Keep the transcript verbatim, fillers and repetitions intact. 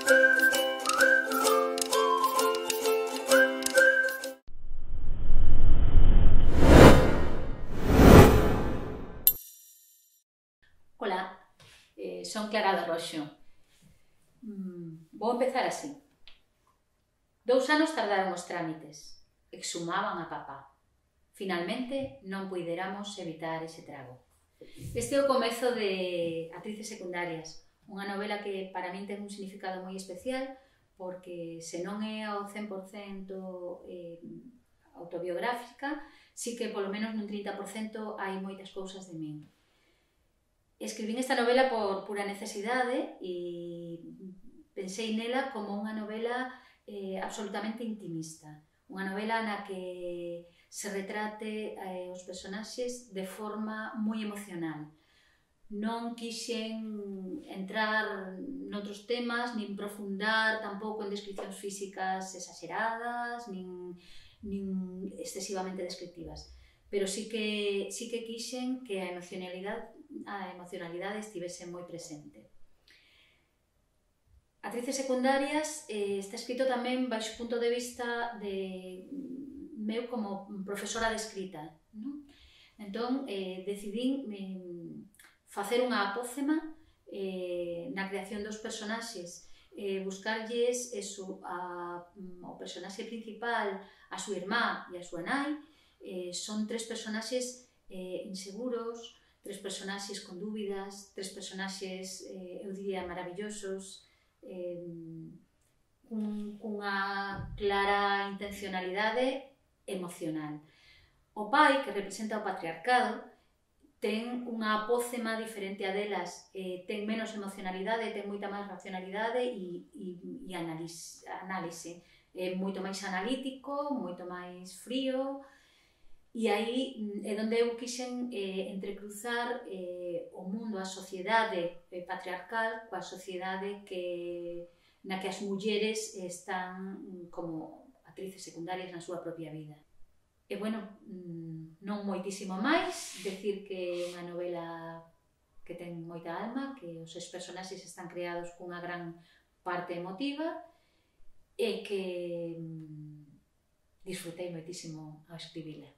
Ola, eh, son Clara de Roxo. Mm, vou empezar así. Dous anos tardaron os trámites, exhumaban a papá. Finalmente non puideramos evitar ese trago. Este é o comezo de Actrices secundarias, unha novela que para min ten un significado moi especial porque se non é ao cen por cento eh, autobiográfica, sí que polo menos nun trinta por cento hai moitas cousas de min. Escribín esta novela por pura necesidade e pensei nela como unha novela eh, absolutamente intimista. Unha novela na que se retrate eh, os personaxes de forma moi emocional. Non quixen entrar noutros temas, nin profundar tampouco en descripcións físicas exageradas, nin, nin excesivamente descriptivas. Pero sí que, sí que quixen que a emocionalidade a emocionalidade estivese moi presente. Actrices secundarias eh, está escrito tamén baixo o punto de vista de meu como profesora de escrita, non? Entón, eh, decidín eh, facer unha apócema eh, na creación dos personaxes, eh, buscarlles eso, a, o personaxe principal, a súa irmá e a súa nai, eh, son tres personaxes eh, inseguros, tres personaxes con dúbidas, tres personaxes, eh, eu diría, maravillosos, eh, cun, cunha clara intencionalidade emocional. O pai, que representa o patriarcado, ten unha apócema diferente a delas, eh, ten menos emocionalidade, ten moita máis racionalidade e, e, e análise, análise. É moito máis analítico, moito máis frío. E aí é onde eu quixen eh, entrecruzar eh, o mundo, a sociedade eh, patriarcal coa sociedade que, na que as mulleres están como actrices secundarias na súa propia vida. E, bueno, non moitísimo máis, decir que é unha novela que ten moita alma, que os seus personaxes están creados cunha gran parte emotiva e que disfrutei moitísimo ao escribila.